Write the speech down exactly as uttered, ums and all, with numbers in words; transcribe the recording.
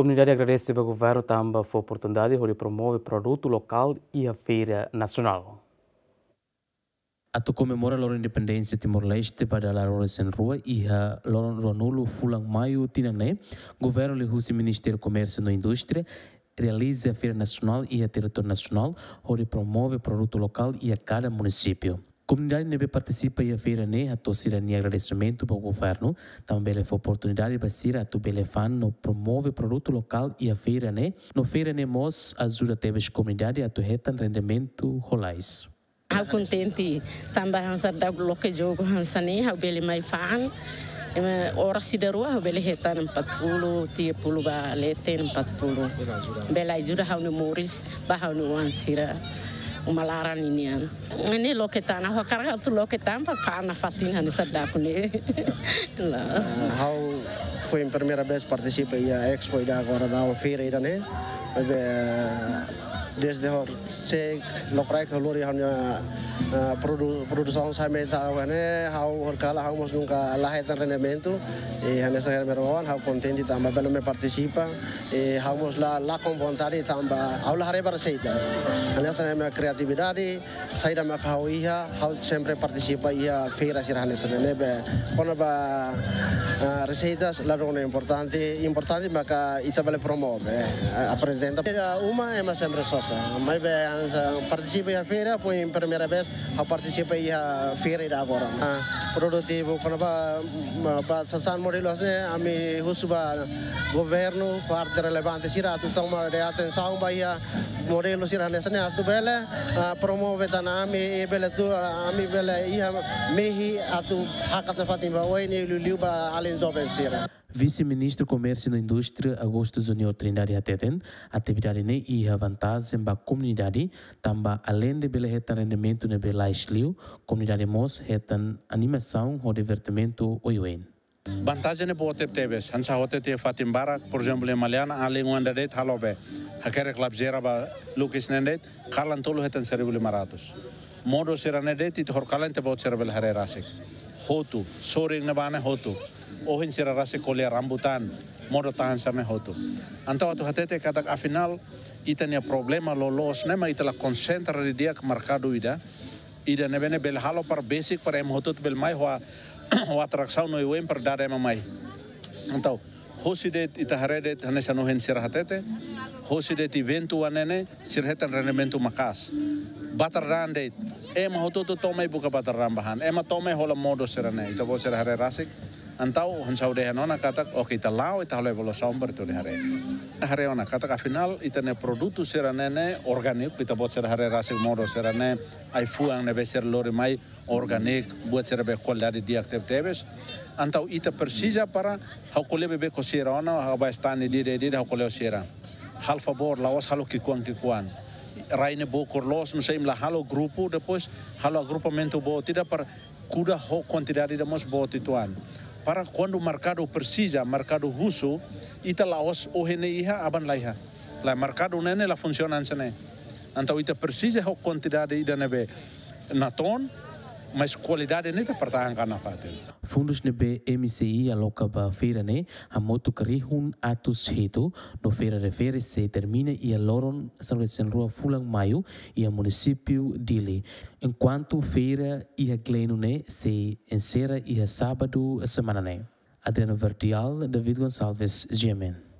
Komunidade agradese ba governu tanba fó oportunidade hodi promove produtu lokál iha feira nasionál. Atu komemora loron independénsia Timor-Leste ba dala rua-resin-rua iha loron ruanulu fulan maiu tinan ne'e, governu liuhusi Ministériu Komérsiu no Indústria realiza feira nasionál iha territóriu nasionál hodi promove produtu lokál iha kada munisípiu. Komunidade ne'ebé partisipa iha feira ne'e hato'o sira-nia agradesimentu ba governu, tanba bele fó oportunidade ba sira atu bele fa'an no promove produtu lokál iha feira ne'e, no feira ne'e mós ajuda tebes komunidade atu hetan rendimentu lalais. Ha'u kontente, tanba hanesan daudaun loke jogu hanesan ne'e, ha'u bele mai fa'an. Ema oras ida rua, ha'u bele hetan empat puluh, tiga puluh ba leten empat puluh. Bele ajuda ha'u-nia moris, ba ha'u-nia oan sira. Uma laran ninian. Ne'e loke tan, ha'u hakarak atu loke tan, para fa'an nafatin hanesan daudaun ne'e. Loos. Ah, ha'u foin primeira vez partisipa iha Expo ida agora, feira ida ne'e. Maibé, desde horisehik, lokraik ha'u lori ha'u-nia, ah, produ-, produsaun sai mai ita ha'u ne'e, ha'u horikalan ha'u mós nunka la hetan rendimentu. I hanesan ema rua-oan, ha'u kontente tanba bele mai partisipa. I ha'u mós la, la konforme tanba ha'u la haree ba reseita. Hanesan ema kriatividade, saida mak ha'u iha, ha'u sempre partisipa iha feira sira hanesan ne'e, ne'ebé kona-ba, ah, reseitas la dona importante, importante maka ita bele promove, eh, aprezenta. Feira uma ema sempre sosa, maibé hanesan partisipa iha feira, foin primeira vez ha'u partisipa iha feira ida agora. Ah, produtivu, kona-ba, ba sasán modelu hanesan ne'e, ami husu ba governu, parte relevante sira atu toma atensaun ba iha modelu sira hanesan ne'e atu bele, ah, promove tan ami, i bele atu, ah, ami bele iha mehi atu hakat nafatin ba oin i liuliu ba alin joven sira. Vise-Ministru Komérsiu no Indústria, Augusto Júnior Trindade hateten, atividade ne'e iha vantajen ba komunidade, tanba aleinde bele hetan rendimentu ne'ebé lalais liu, komunidade mós hetan animasaun ho divertimentu oioin. Vantajen ne'e boot tebetebes, hanesan ha'u hatete iha fatin barak, por ezemplu, iha Maliana, alin oan ida de'it halo be, hakerek labazeira ba lukis neen de'it, kalan tolu hetan seribu lima ratus. Modo sira-ne'e de'it, ita horikalan ita-boot sira bele haree rasik. Hotu, sorin ne'ebá ne'e hotu. Ohin sira rasik ko'alia rambutan, modo tahan sira-ne'e hotu. Entaun atu hatete katak afinál, ita-nia problema loloos ne'e mak ita la konsentra didi'ak merkadu ida, ida ne'ebé ne'e bele halo para besik para ema hotu-hotu bele mai ho, ho atrasaun no oioin para dada ema mai. Entaun, hosi de'it ita haree de'it hanesan ohin sira hatete, hosi de'it eventu oan ne'e ne'e, sira hetan rendimentu maka'as. Batar-daan de'it, ema hotu-hotu to'o mai buka batar-daan ba han, ema to'o mai hola modo sira-ne'e, ita-boot sira haree rasik. Entaun, hanesan ha'u dehan ona katak, oke, ita la'o, ita halo evaluasaun para ita bele haree. Ita haree ona katak afinál, ita-nia produtu sira-ne'e ne'e orgániku, ita-boot sira haree rasik modo sira-ne'e, ai-fuan ne'ebé sira lori mai, orgániku, buat sira be kualidade di'ak tebetebes. Entaun ita presiza para ha'u ko'alia beibeik ho sira ona, ha'u bá estande ida-idak, ha'u ko'alia ho sira. Halo favór, la'ós halo ki'ikoan-ki'ikoan. Rai ne'e bokur loos, nusá imi la halo grupu, depois halo agrupamentu boot ida para kuda ho kuantidade ida mós boot uitoan. Para kuandu merkadu presiza, merkadu husu, ita la'ós ohin ne'e iha, aban la iha. Lae, merkadu ne'e ne'e la funsiona hanesan ne'e. Entaun ita presiza ho kuantidade ida ne'ebé natoon, mas kualidade ne'e ita pertahankan nafatin. Fundus ne'ebé M C I aloka ba feira ne'e hamutuk rihun atus hitu, no feira refere sei termina iha loron sanulu-resin-rua fulan Maiu iha munisípiu Dili. Enkuantu feira iha Gleno ne'e sei ensera iha sábadu semana ne'e. Adriano Verdial, David Gonçalves, G M N.